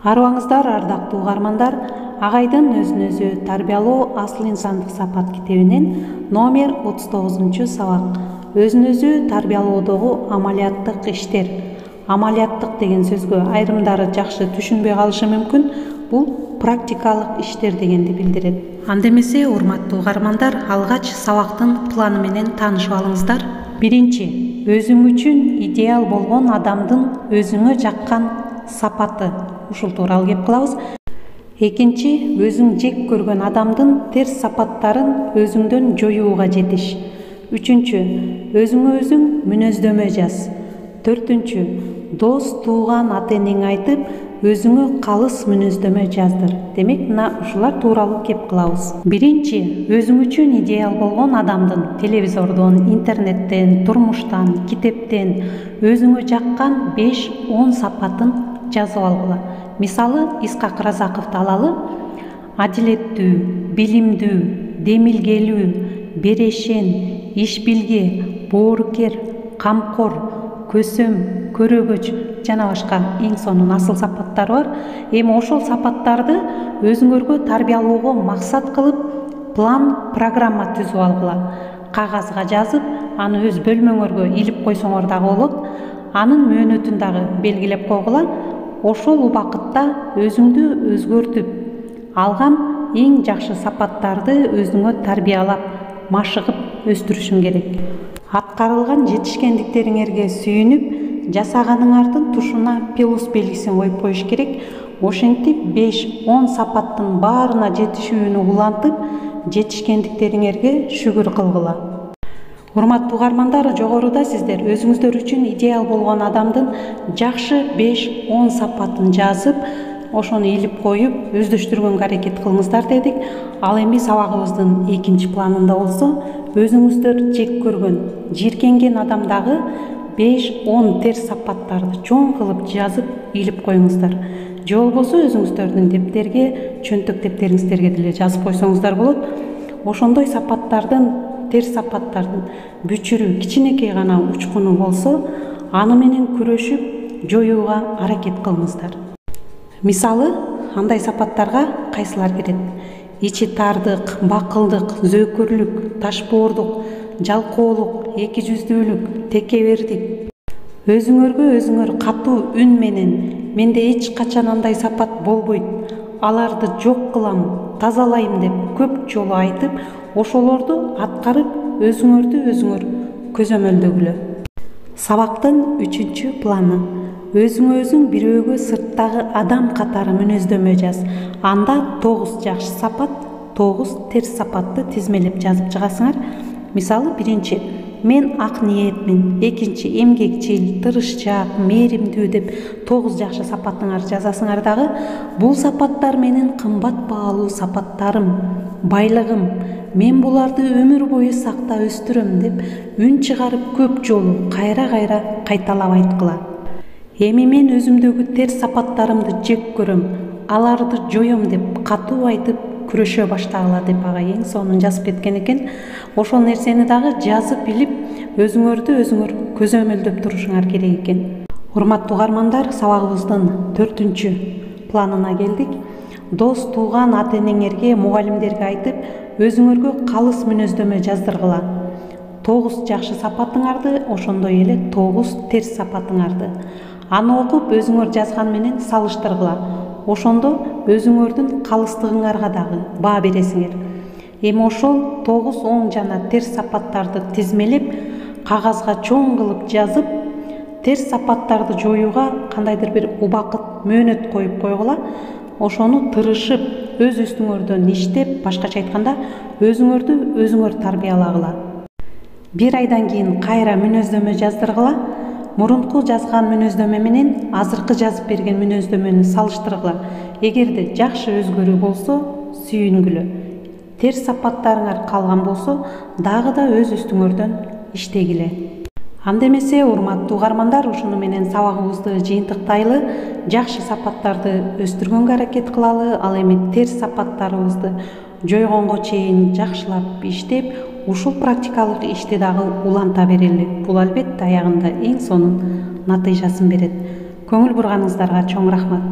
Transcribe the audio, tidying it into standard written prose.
Арыбаңыздар, ардактуу угармандар, Агайдын өзүн өзү тарбиялоо асыл инсандык сапат китебинен номер 39 сабак. Өзүн өзү тарбиялоодогу амалияттык иштер. Амалияттык деген сөзгө айрымдары жакшы түшүнбөй калышы мүмкүн. Бул практикалык иштер дегенди билдирет. Анда эмесе, урматтуу угармандар, алгач сабактын планы менен таанышып алыңыздар. Биринчи, өзүң үчүн идеал болгон адамдын өзүңө жаккан сапаты. Ушул тууралуу кеп кылабыз. Экинчи, өзүң жек көргөн адамдын терс сапаттарын өзүңдөн жоюуга жетиш. Үчүнчү, өзүңө өзүң мүнөздөмө жаз. Төртүнчү, дос, тууган, ата-энең айтып, өзүңө калыс мүнөздөмө жаздыр. Демек, мына ушулар тууралуу кеп кылабыз. Биринчи, өзүң үчүн идеал болгон адамдын телевизордон, интернеттен, турмуштан, китептен өзүңө жаккан 5-10 сапатын жазып алгыла. Мисалы, Исхак Разаковду алалы. Адилеттүү, билимдүү, демилгелүү, берешен, иш билге, боорукер, камкор, көсөм, көрөгөч жана башка эң сонун асыл сапаттар бар. Эми ошол сапаттарды өзүңөргө тарбиялоого максат кылып, план, программа түзүп алгыла. Кагазга жазып, аны өз бөлмөңөргө илип койсоңор дагы болот. Анын мөөнөтүн дагы белгилеп койгула. Ошол убакытта өзүңдү өзгөртүп, алган эң жакшы сапаттарды өзүңө тарбиялап, машыгып өстүрүшүң керек. Аткарылган жетишкендиктериңерге сүйүнүп, жасаганыңардын тушуна плюс белгисин коюп коюш керек. Ошентип 5-10 сапаттын баарына жетишүүнү улантып, жетишкендиктериңерге шүгүр кылгыла. Урматтуу угармандар, жогоруда сиздер өзүңүздөр үчүн идеал болгон адамдын жакшы 5-10 сапатын жазып, ошону илип коюп, өздөштүргөнгө аракет кылыңыздар дедик. Ал эми сабагыбыздын экинчи планында болсо, өзүңүздөр жек көргөн, жийиркенген адамдагы 5-10 терс сапаттарды чоң кылып жазып, илип коюңуздар. Же болбосо өзүңүздөрдүн дептерге, чөнтөк дептериңиздерге деле жазып койсоңуздар болот. Ошондой сапаттардын, терс сапаттардын бүчүрү, кичинекей гана учкуну болсо, аны менен күрөшүп, жоюуга аракет кылыңыздар. Мисалы, андай сапаттарга кайсылар кирет? Ичи тардык, бакылдык, зөөкүрлүк, ташбоордук, жалкоолук, эки жүздүүлүк, текебердик. Өзүңөргө өзүңөр катуу үн менен, менде эч качан андай сапат болбойт, аларды жок кылам, тазалайм деп көп жолу айтып, ошолорду аткарып, өзүңөрдү өзүңөр көзөмөлдөгүлө. Сабактын 3-чү планы. Өзүңө өзүң бирөөгө сырттагы адам катары мүнөздөмө жаз. Анда 9 жакшы сапат, 9 терс сапатты тизмелеп жазып чыгасыңар. Мисалы, биринчи, мен ак ниетмин. Экинчи, эмгекчил, тырышчаак, мээримдүү деп 9 жакшы сапатыңар жазасыңар дагы. Бул сапаттар менин кымбат баалуу сапаттарым, байлыгым. Мен буларды өмүр бою сакта өстүрөм деп үн чыгарып көп жолу кайра-кайра кайталап айткыла. Эми мен өзүмдөгү терс сапаттарымды жек көрөм, аларды жоём деп катуу айтып күрөшө баштагыла деп ага эң сонун жазып кеткен экен. Ошол нерсени дагы жазып илип, өзүңөрдү өзүңөр көзөмөлдөп турушуңар керек экен. Урматтуу угармандар, сабагыбыздын 4-чү планына келдик. Дос, тууган, ата-энеңерге, мугалимдерге айтып, өзүңөргө калыс мүнөздөмө жаздыргыла. 9 жакшы сапатыңарды, ошондой эле 9 терс сапатыңарды. Аны окуп, өзүңөр жазган менен салыштыргыла. Ошондо өзүңөрдүн калыстыгыңарга дагы баа бересиңер. Эми ошол 9 оң жана терс сапаттарды тизмелеп, кагазга чоң кылып жазып, терс сапаттарды жоюуга кандайдыр бир убакыт, мөөнөт коюп койгула. Ошону тырышып, өз үстүңөрдөн иштеп, башкача айтканда, өзүңөрдү өзүңөр тарбиялагыла. 1 айдан кийин кайра мүнөздөмө жаздыргыла. Мурунку жазган мүнөздөмө менен азыркы жазып берген мүнөздөмөнү салыштыргыла. Эгерде жакшы өзгөрүү болсо, сүйүнгүлө. Терс сапаттарыңар калган болсо, дагы да өз үстүңөрдөн иштегиле. Анда эмесе, урматтуу угармандар, ушуну менен сабагыбызды жыйынтыктайлы. Жакшы сапаттарды өстүргөнгө аракет кылалы. Ал эми терс сапаттарыбызды жойгонго чейин жакшылап иштеп, ушул практикалык ишти дагы уланта берели. Бул албетте аягында эң сонун натыйжасын берет. Көңүл бурганыңыздарга чоң рахмат.